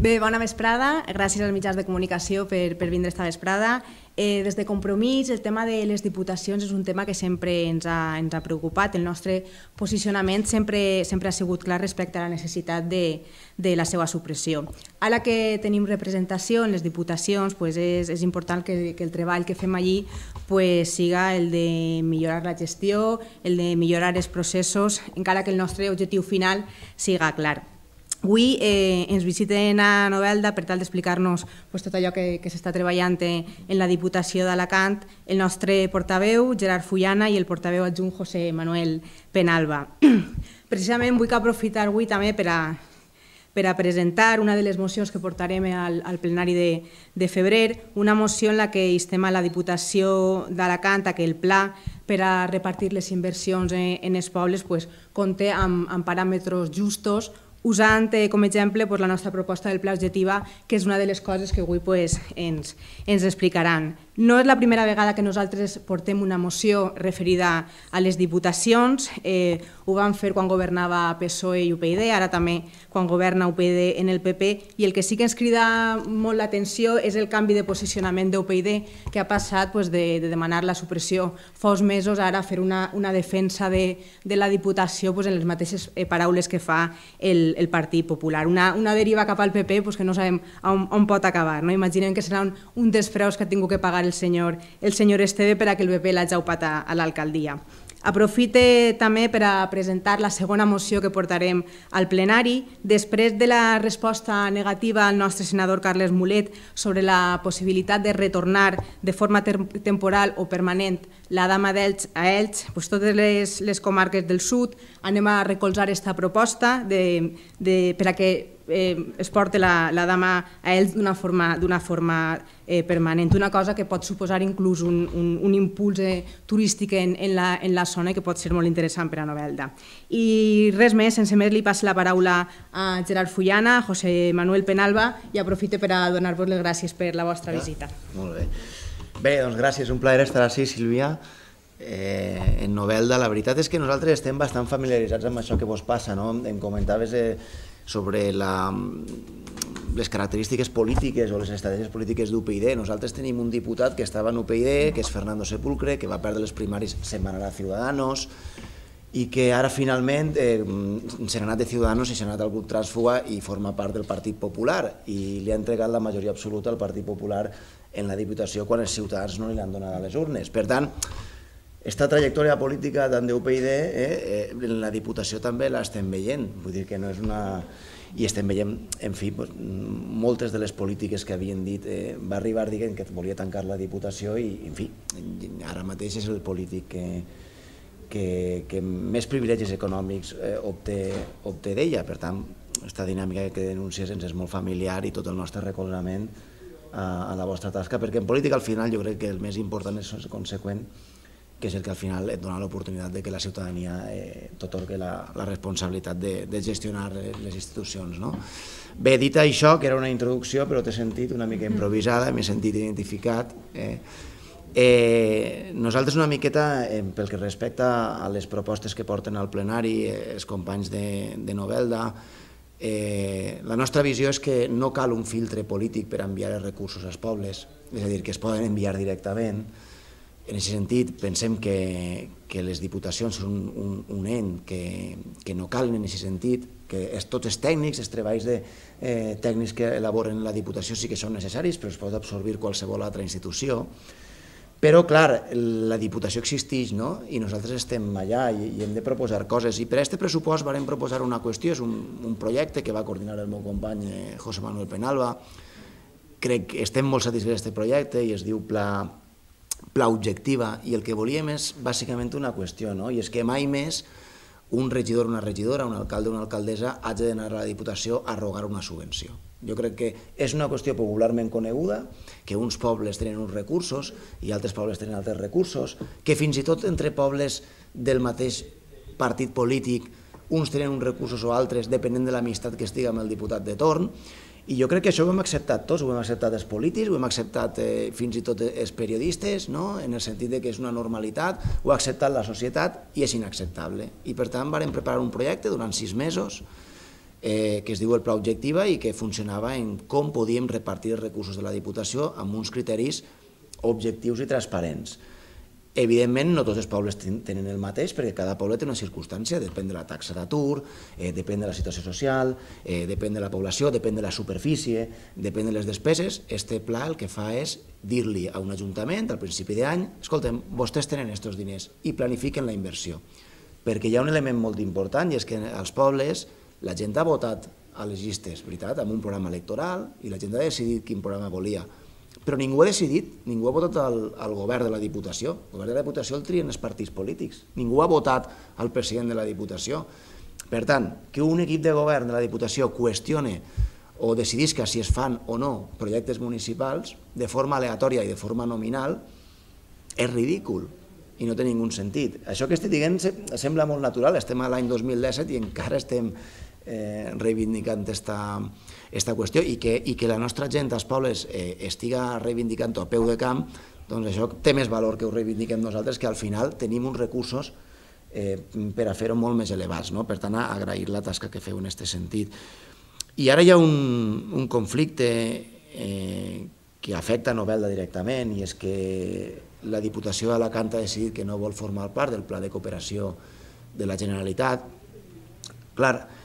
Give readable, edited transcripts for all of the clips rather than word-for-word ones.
Bé, bona vesprada. Gràcies als mitjans de comunicació per vindre esta vesprada. Des de Compromís, el tema de les diputacions és un tema que sempre ens ha preocupat. El nostre posicionament sempre ha sigut clar respecte a la necessitat de la seva supressió. Ara que tenim representació en les diputacions, és important que el treball que fem allí siga el de millorar la gestió, el de millorar els processos, encara que el nostre objectiu final siga clar. Avui ens visiten a Novelda per tal d'explicar-nos tot allò que s'està treballant en la Diputació d'Alacant el nostre portaveu, Gerard Fullana, i el portaveu adjunt, José Manuel Penalba. Precisament vull aprofitar avui també per a presentar una de les mocions que portarem al plenari de febrer, una moció en la que instem a la Diputació d'Alacant que el pla per a repartir les inversions en els pobles compte amb paràmetres justos, usant com a exemple la nostra proposta del pla objectiva, que és una de les coses que avui ens explicaran. No és la primera vegada que nosaltres portem una moció referida a les diputacions. Ho vam fer quan governava PSOE i UPyD, ara també quan governa UPyD en el PP, i el que sí que ens crida molt l'atenció és el canvi de posicionament d'UPyD, que ha passat de demanar la supressió fa uns mesos ara a fer una defensa de la Diputació en les mateixes paraules que fa el Partit Popular. Una deriva cap al PP que no sabem on pot acabar. Imaginem que serà un dels preus que ha tingut que pagar el senyor Esteve per a que el PP l'hagi aupat a l'alcaldia. Aprofite també per a presentar la segona moció que portarem al plenari. Després de la resposta negativa al nostre senador Carles Mulet sobre la possibilitat de retornar de forma temporal o permanent la Dama d'Elx a Elx, totes les comarques del sud, anem a recolzar aquesta proposta per a que es porti la Dama a Elx d'una forma permanent, una cosa que pot suposar inclús un impuls turístic en la zona que pot ser molt interessant per a Novelda. I res més, sense més li passo la paraula a Gerard Fullana, a José Manuel Penalba, i aprofito per a donar-vos les gràcies per la vostra visita. Molt bé. Bé, doncs gràcies, un plaer estar així, Sílvia. En Novelda, la veritat és que nosaltres estem bastant familiaritzats amb això que vos passa, no? Em comentaves sobre les característiques polítiques o les estratègies polítiques d'UPyD. Nosaltres tenim un diputat que estava en UPyD, que és Fernando Sepulcre, que va perdre les primàries, se'n va anar a Ciudadanos, i que ara finalment se n'ha anat de Ciudadanos i se n'ha anat al grup Trànsfuga i forma part del Partit Popular, i li ha entregat la majoria absoluta al Partit Popular en la Diputació quan els ciutadans no li han donat a les urnes. Per tant, aquesta trajectòria política tant d'UPyD en la Diputació també l'estem veient, vull dir que no és una... i estem veient, en fi, moltes de les polítiques que havien dit, va arribar dient que volia tancar la Diputació i, en fi, ara mateix és el polític que més privilegis econòmics obté d'ella. Per tant, aquesta dinàmica que denuncies ens és molt familiar i tot el nostre recolzament a la vostra tasca, perquè en política al final jo crec que el més important és ser conseqüent, que és el que al final et dona l'oportunitat que la ciutadania t'atorgui la responsabilitat de gestionar les institucions. Bé, dit això, que era una introducció, però t'he sentit una mica improvisada, m'he sentit identificat. Nosaltres una miqueta, pel que respecta a les propostes que porten al plenari els companys de Novelda, la nostra visió és que no cal un filtre polític per enviar els recursos als pobles, és a dir, que es poden enviar directament. En aquest sentit, pensem que les diputacions són un ent que no calen en aquest sentit, que tots els tècnics, els treballs tècnics que elaboren la Diputació sí que són necessaris, però es pot absorbir qualsevol altra institució. Però, clar, la Diputació existeix, no? I nosaltres estem allà i hem de proposar coses. I per a aquest pressupost vam proposar una qüestió, és un projecte que va coordinar el meu company José Manuel Penalba. Crec que estem molt satisfets d'aquest projecte i es diu Pla Objectiva, i el que volíem és bàsicament una qüestió, i és que mai més un regidor, una regidora, un alcalde o una alcaldessa hagi d'anar a la Diputació a rogar una subvenció. Jo crec que és una qüestió popularment coneguda, que uns pobles tenen uns recursos i altres pobles tenen altres recursos, que fins i tot entre pobles del mateix partit polític uns tenen uns recursos o altres depenent de l'amistat que estigui amb el diputat de torn. I jo crec que això ho hem acceptat tots, ho hem acceptat els polítics, ho hem acceptat fins i tot els periodistes, en el sentit que és una normalitat, ho ha acceptat la societat i és inacceptable. I per tant vam preparar un projecte durant 6 mesos que es diu el Pla Objectiva i que funcionava en com podíem repartir els recursos de la Diputació amb uns criteris objectius i transparents. Evidentment, no tots els pobles tenen el mateix, perquè cada poble té una circumstància, depèn de la taxa d'atur, depèn de la situació social, depèn de la població, depèn de la superfície, depèn de les despeses. Este pla el que fa és dir-li a un ajuntament al principi d'any: escolta'm, vostès tenen aquests diners i planifiquen la inversió. Perquè hi ha un element molt important, i és que als pobles la gent ha votat a les llistes, veritat, amb un programa electoral, i la gent ha decidit quin programa volia. Però ningú ha decidit, ningú ha votat al govern de la Diputació. El govern de la Diputació el trien els partits polítics. Ningú ha votat al president de la Diputació. Per tant, que un equip de govern de la Diputació qüestione o decidisca si es fan o no projectes municipals de forma aleatòria i de forma nominal és ridícul i no té ningú sentit. Això que estic dient sembla molt natural. Estem a l'any 2017 i encara estem reivindicant aquesta qüestió, i que la nostra gent als pobles estiga reivindicant a peu de camp, doncs això té més valor que ho reivindiquem nosaltres, que al final tenim uns recursos per a fer-ho molt més elevats. Per tant, agrair la tasca que feu en aquest sentit. I ara hi ha un conflicte que afecta Novelda directament, i és que la Diputació d'Alacant ha decidit que no vol formar part del Pla de Cooperació de la Generalitat. Clar,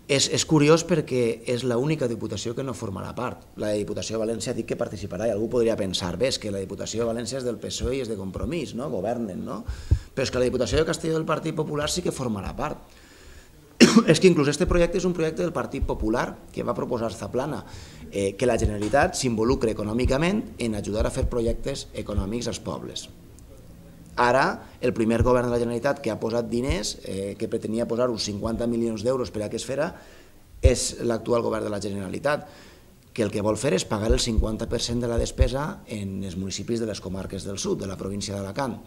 és curiós perquè és l'única Diputació que no formarà part. La Diputació de València ha dit que participarà, i algú podria pensar, bé, és que la Diputació de València és del PSOE i és de Compromís, governen, no? Però és que la Diputació de Castelló del Partit Popular sí que formarà part. És que inclús aquest projecte és un projecte del Partit Popular que va proposar Zaplana, que la Generalitat s'involucre econòmicament en ajudar a fer projectes econòmics als pobles. Ara, el primer govern de la Generalitat que ha posat diners, que pretenia posar uns 50 milions d'euros per a que es fera, és l'actual govern de la Generalitat, que el que vol fer és pagar el 50% de la despesa en els municipis de les comarques del sud, de la província d'Alacant.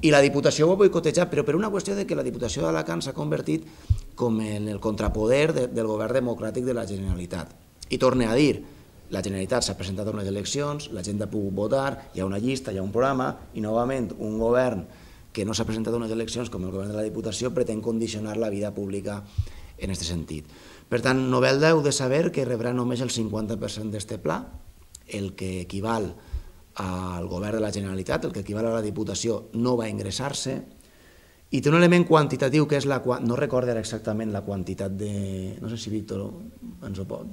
I la Diputació ho ha boicotejat, però per una qüestió de que la Diputació d'Alacant s'ha convertit com en el contrapoder del govern democràtic de la Generalitat. I torne a dir, la Generalitat s'ha presentat a unes eleccions, la gent ha pogut votar, hi ha una llista, hi ha un programa, i novament un govern que no s'ha presentat a unes eleccions com el govern de la Diputació pretén condicionar la vida pública en aquest sentit. Per tant, Novelda heu de saber que rebrà només el 50% d'aquest pla, el que equival al govern de la Generalitat, el que equival a la Diputació, no va ingressar-se, i té un element quantitatiu que és no recordo exactament la quantitat de... no sé si Víctor ens ho pot...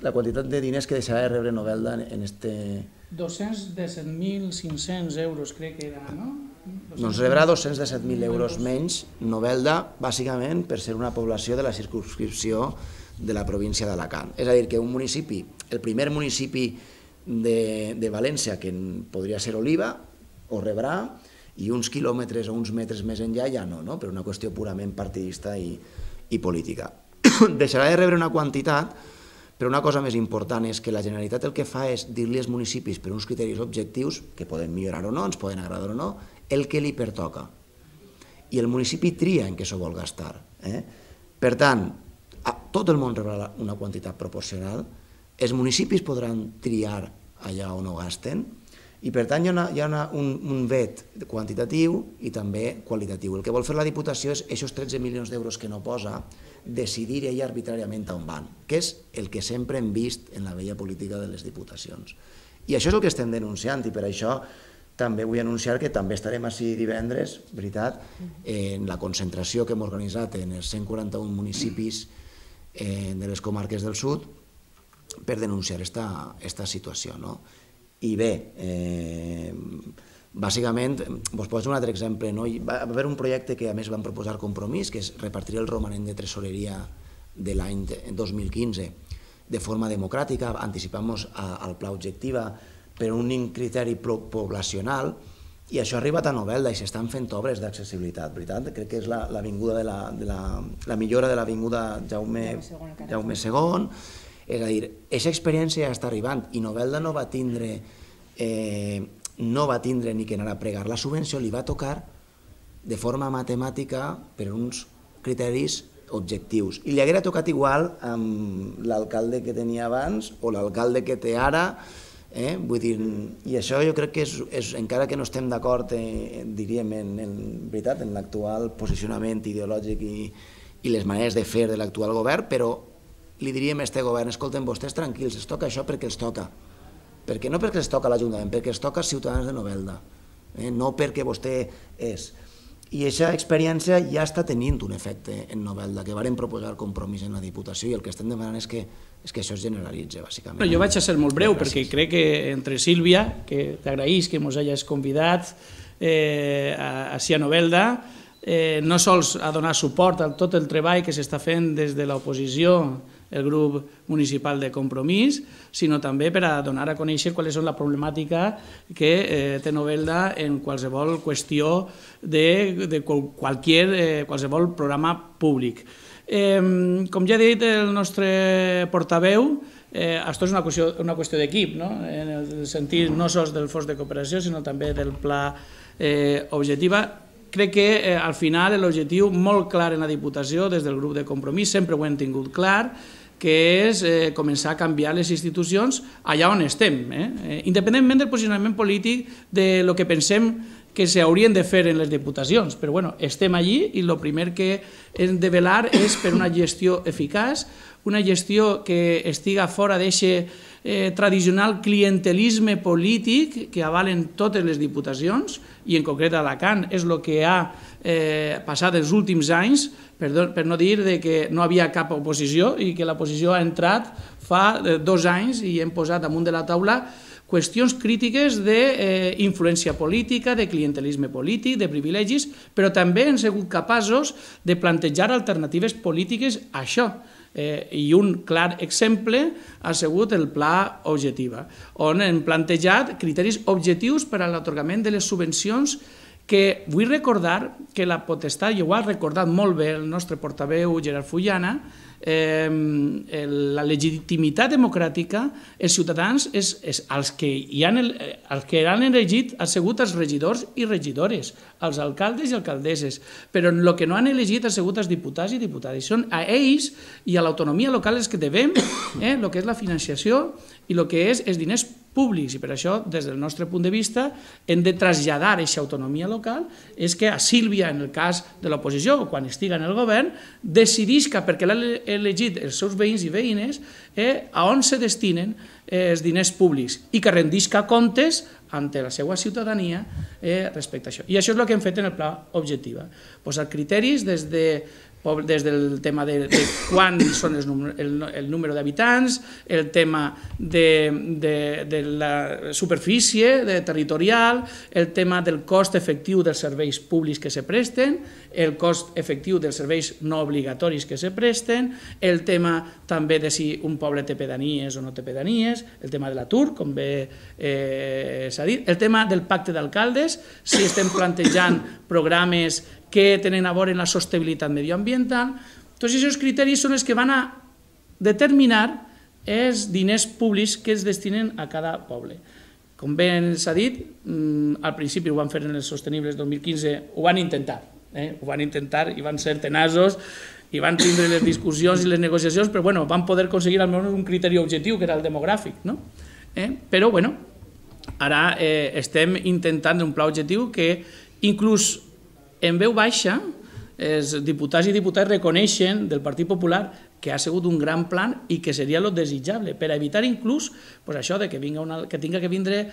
La quantitat de diners que deixarà de rebre Novelda en este... 217.500 euros crec que era, no? Doncs rebrà 217.000 euros menys Novelda, bàsicament per ser una població de la circumscripció de la província d'Alacant. És a dir, que un municipi, el primer municipi de València, que podria ser Oliva, ho rebrà, i uns quilòmetres o uns metres més enllà ja no, per una qüestió purament partidista i política. Deixarà de rebre una quantitat, però una cosa més important és que la Generalitat el que fa és dir-li als municipis per uns criteris objectius, que poden millorar o no, ens poden agradar o no, el que li pertoca. I el municipi tria en què s'ho vol gastar. Per tant, tot el món rebrà una quantitat proporcional, els municipis podran triar allà on ho gasten, i per tant hi ha un vet quantitatiu i també qualitatiu. El que vol fer la Diputació és aquests 13 milions d'euros que no posa, decidir ella arbitràriament on van, que és el que sempre hem vist en la vella política de les diputacions. I això és el que estem denunciant, i per això també vull anunciar que també estarem ací divendres, veritat, en la concentració que hem organitzat en els 141 municipis de les comarques del sud per denunciar aquesta situació. I bé, bàsicament, us poso un altre exemple. Hi va haver un projecte que a més van proposar Compromís, que és repartir el romanent de tresoreria de l'any 2015 de forma democràtica, anticipant-nos al Pla Objectiva per un criteri poblacional, i això ha arribat a Novelda i s'estan fent obres d'accessibilitat, veritat? Crec que és la millora de l'avinguda Jaume II. És a dir, aquesta experiència ja està arribant i Novelda no va tindre ni que anar a pregar la subvenció, li va tocar de forma matemàtica per uns criteris objectius. I li haguera tocat igual amb l'alcalde que tenia abans o l'alcalde que té ara, i això jo crec que és, encara que no estem d'acord, diríem, en l'actual posicionament ideològic i les maneres de fer de l'actual govern, però li diríem a este govern, escolten, vostès tranquils, es toca això perquè els toca. No perquè els toca l'Ajuntament, perquè els toca als ciutadans de Novelda, no perquè vostè és. I aquesta experiència ja està tenint un efecte en Novelda, que varen proposar Compromís en la Diputació, i el que estem demanant és que això es generalitzi, bàsicament. Jo vaig a ser molt breu, perquè crec que entre Sílvia, que t'agraïs que ens hagis convidat a Novelda, no sols a donar suport a tot el treball que s'està fent des de l'oposició, el grup municipal de Compromís, sinó també per a donar a conèixer quals són la problemàtica que té Novelda en qualsevol qüestió de qualsevol programa públic. Com ja ha dit el nostre portaveu, això és una qüestió d'equip, en el sentit no sols del fons de cooperació, sinó també del pla objectiva. Crec que al final l'objectiu molt clar en la Diputació, des del grup de Compromís, sempre ho hem tingut clar, que és començar a canviar les institucions allà on estem, independentment del posicionament polític de lo que pensem que s'haurien de fer en les diputacions, però bueno, estem allí i el primer que hem de velar és per una gestió eficaç, una gestió que estiga fora d'aquest tradicional clientelisme polític que avalen totes les diputacions, i en concret a Alacant és el que ha passat els últims anys, per no dir que no havia cap oposició i que l'oposició ha entrat fa 2 anys i hem posat damunt de la taula qüestions crítiques d'influència política, de clientelisme polític, de privilegis, però també hem sigut capaços de plantejar alternatives polítiques a això. I un clar exemple ha sigut el Pla Objectiva, on hem plantejat criteris objectius per a l'atorgament de les subvencions, que vull recordar que la potestat, i ho ha recordat molt bé el nostre portaveu Gerard Fullana, la legitimitat democràtica, els ciutadans, els que han elegit han sigut els regidors i regidores, els alcaldes i alcaldesses, però el que no han elegit han sigut els diputats i diputades. Són a ells i a l'autonomia local els que devem el que és la financiació i el que és els diners públics, i per això, des del nostre punt de vista, hem de traslladar aquesta autonomia local, és que a Sílvia, en el cas de l'oposició, o quan estiga en el govern, decidisca, perquè l'han elegit els seus veïns i veïnes, a on se destinen els diners públics i que rendisca comptes ante la seva ciutadania respecte a això. I això és el que hem fet en el Pla Objectiva. Posar criteris des del tema de quan són el número d'habitants, el tema de la superfície territorial, el tema del cost efectiu dels serveis públics que se presten, el cost efectiu dels serveis no obligatoris que se presten, el tema també de si un poble té pedanies o no té pedanies, el tema de l'atur, com bé s'ha dit, el tema del pacte d'alcaldes, si estem plantejant programes que tenen a veure amb la sostenibilitat medioambiental. Tots aquests criteris són els que van a determinar els diners públics que es destinen a cada poble. Com bé s'ha dit, al principi ho van fer en els sostenibles 2015, ho van intentar i van ser tenaços i van tindre les discussions i les negociacions, però van poder aconseguir almenys un criteri objectiu, que era el demogràfic. Però ara estem intentant un pla objectiu que inclús en veu baixa, els diputats i diputades reconeixen del Partit Popular que ha sigut un gran plan i que seria el desitjable, per evitar inclús això que tinga que vindre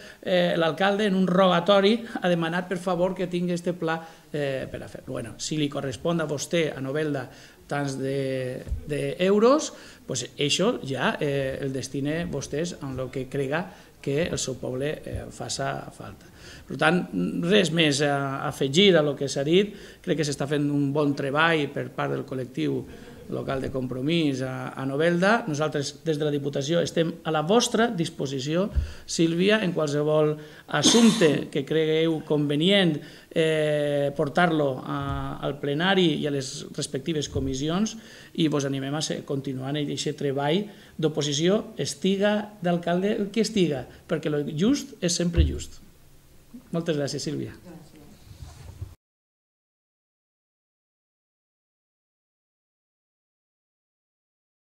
l'alcalde en un rogatori a demanar per favor que tingui aquest pla per a fer-lo. Si li correspon a vostè, a Novelda, tants d'euros, això ja el destine vostès amb el que crega que el seu poble faça falta. Per tant, res més a afegir a el que s'ha dit. Crec que s'està fent un bon treball per part del col·lectiu local de Compromís a Novelda. Nosaltres, des de la Diputació, estem a la vostra disposició, Sílvia, en qualsevol assumpte que cregueu convenient portar-lo al plenari i a les respectives comissions, i vos animem a continuar en aquest treball d'oposició, estiga d'alcalde el que estiga, perquè el just és sempre just. Moltes gràcies, Sílvia.